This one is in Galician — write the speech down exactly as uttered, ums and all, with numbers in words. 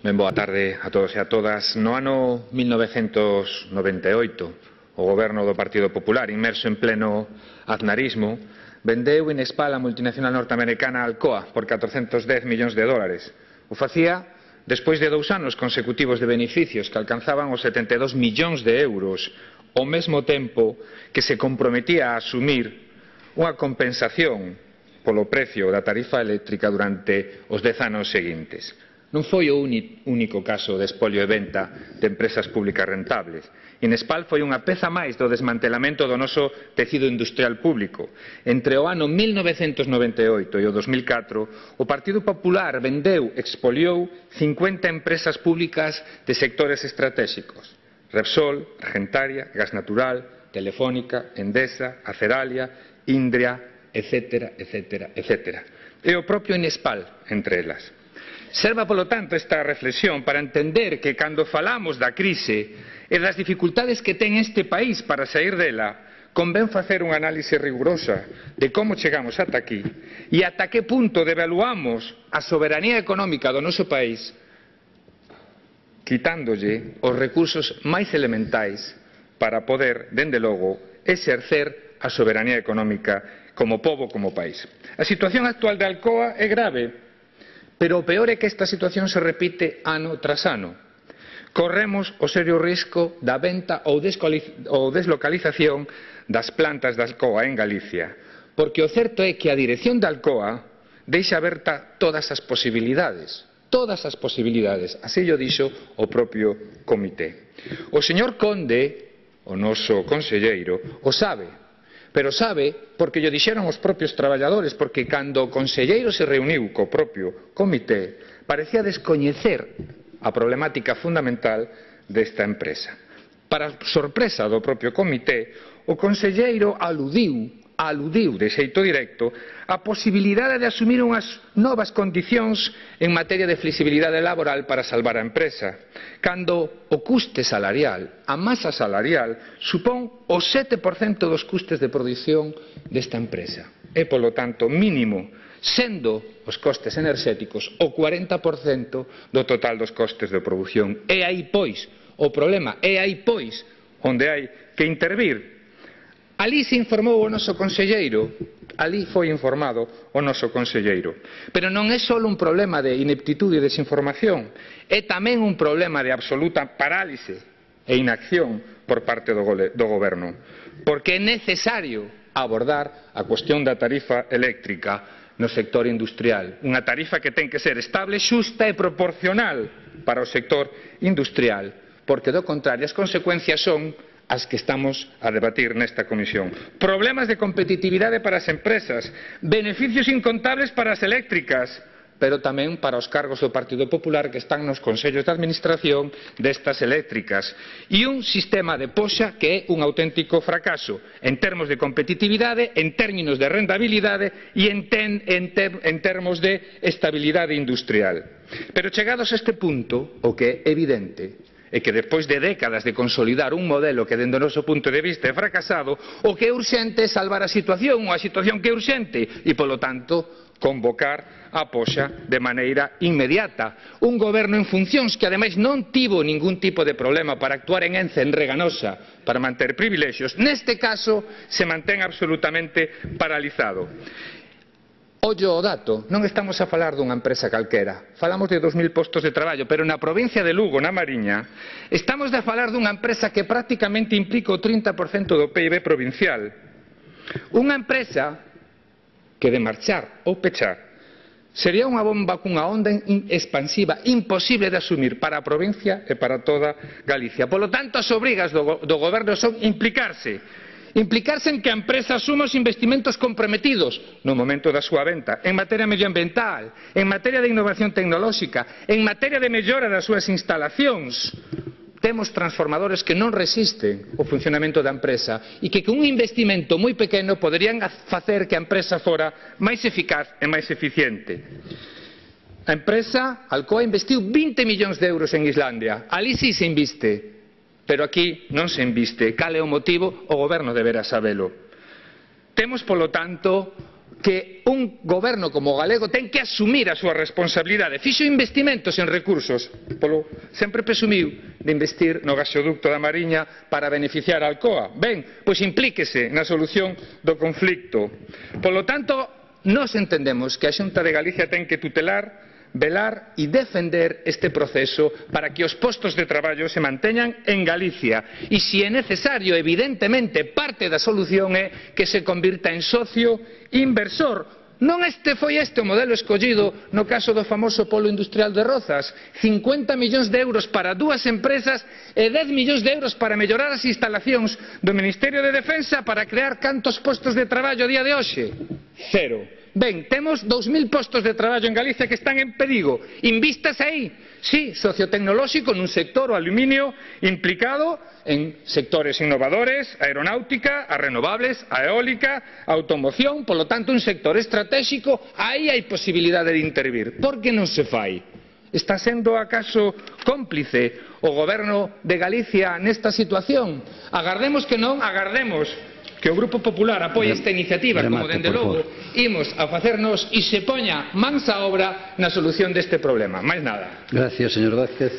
Ben boa tarde a todos e a todas. No ano mil novecentos noventa e oito, o goberno do Partido Popular, inmerso en pleno aznarismo, vendeu Inespal a multinacional norteamericana Alcoa por catrocentos dez millóns de dólares. O facía despois de dous anos consecutivos de beneficios que alcanzaban os setenta e dos millóns de euros, ao mesmo tempo que se comprometía a asumir unha compensación polo precio da tarifa eléctrica durante os dez anos seguintes. Non foi o único caso de espolio e venta de empresas públicas rentables. Inespal foi unha peza máis do desmantelamento do noso tecido industrial público. Entre o ano mil novecentos noventa e oito e o dos mil catro, o Partido Popular vendeu, expoliou cincuenta empresas públicas de sectores estratégicos: Repsol, Argentaria, Gas Natural, Telefónica, Endesa, Aceralia, Indria, etcétera, etcétera, etcétera. E o propio Inespal entre elas. Serva, polo tanto, esta reflexión para entender que cando falamos da crise e das dificultades que ten este país para sair dela, convén facer unha análise rigurosa de como chegamos ata aquí e ata que punto devaluamos a soberanía económica do noso país, quitándolle os recursos máis elementais para poder, dende logo, exercer a soberanía económica como pobo, como país. A situación actual de Alcoa é grave, pero o peor é que esta situación se repite ano tras ano. Corremos o serio risco da venta ou deslocalización das plantas da Alcoa en Galicia, porque o certo é que a dirección da Alcoa deixa aberta todas as posibilidades, todas as posibilidades, así o dixo o propio comité. O señor Conde, o noso conselleiro, o sabe, pero sabe porque llo dixeron os propios traballadores, porque cando o conselleiro se reuniu co propio comité parecía descoñecer a problemática fundamental desta empresa. Para sorpresa do propio comité, o conselleiro aludiu, aludiu de xeito directo a posibilidade de asumir unhas novas condicións en materia de flexibilidade laboral para salvar a empresa, cando o custe salarial, a masa salarial, supón o sete por cento dos custes de produción desta empresa. É, polo tanto, mínimo, sendo os costes enerxéticos o cuarenta por cento do total dos costes de produción. É aí, pois, o problema, é aí, pois, onde hai que intervir. Alí se informou o noso conselleiro, alí foi informado o noso conselleiro. Pero non é só un problema de ineptitude e desinformación, é tamén un problema de absoluta parálise e inacción por parte do goberno, porque é necesario abordar a cuestión da tarifa eléctrica no sector industrial, unha tarifa que ten que ser estable, xusta e proporcional para o sector industrial, porque do contrario as consecuencias son as que estamos a debatir nesta comisión. Problemas de competitividade para as empresas, beneficios incontables para as eléctricas, pero tamén para os cargos do Partido Popular que están nos consellos de administración destas eléctricas, e un sistema de poxa que é un auténtico fracaso en termos de competitividade, en términos de rentabilidade e en, ten, en, ter, en termos de estabilidade industrial. Pero chegados a este punto, o que é evidente é que despois de décadas de consolidar un modelo que dende o noso punto de vista é fracasado, o que é urxente é salvar a situación, unha situación que é urxente, e polo tanto convocar a poxa de maneira inmediata. Un goberno en funcións que ademais non tivo ningún tipo de problema para actuar en Ence, en Reganosa, para manter privilexios, neste caso se mantén absolutamente paralizado. Ollo o dato, non estamos a falar dunha empresa calquera, falamos de dos mil postos de traballo, pero na provincia de Lugo, na Mariña, estamos a falar dunha empresa que prácticamente implica o trinta por cento do P I B provincial. Unha empresa que de marchar ou pechar sería unha bomba cunha onda expansiva imposible de asumir para a provincia e para toda Galicia. Polo tanto, as obrigas do, do goberno son implicarse, implicarse en que a empresa asuma os investimentos comprometidos no momento da súa venta, en materia medioambiental, en materia de innovación tecnolóxica, en materia de mellora das súas instalacións. Temos transformadores que non resisten o funcionamento da empresa e que con un investimento moi pequeno poderían facer que a empresa fora máis eficaz e máis eficiente. A empresa Alcoa investiu vinte millóns de euros en Islandia, ali sí se inviste, pero aquí non se inviste. Cal é o motivo? O goberno deberá sabelo. Temos, polo tanto, que un goberno como o galego ten que asumir a súa responsabilidade. Fixo investimentos en recursos, polo sempre presumiu de investir no gasoducto da Mariña para beneficiar a Alcoa. Ben, pois implíquese na solución do conflicto. Polo tanto, nós entendemos que a Xunta de Galicia ten que tutelar, velar e defender este proceso para que os postos de traballo se manteñan en Galicia e, se é necesario, evidentemente, parte da solución é que se convirta en socio inversor. Non este foi este o modelo escollido no caso do famoso polo industrial de Rozas, cincuenta millóns de euros para dúas empresas e dez millóns de euros para mellorar as instalacións do Ministerio de Defensa para crear cantos postos de traballo a día de hoxe? Cero. Ben, temos dous mil postos de traballo en Galicia que están en perigo. Invistas aí. Sí, sociotecnolóxico nun sector, o aluminio, implicado en sectores innovadores, a aeronáutica, a renovables, a eólica, a automoción, polo tanto un sector estratégico, aí hai posibilidade de intervir. Por que non se fai? Está sendo acaso cómplice o goberno de Galicia nesta situación? Agardemos que non, agardemos que o Grupo Popular apoie esta iniciativa, como dende logo imos a facernos e se poña mans á obra na solución deste problema. Máis nada. Gracias, señor Vázquez.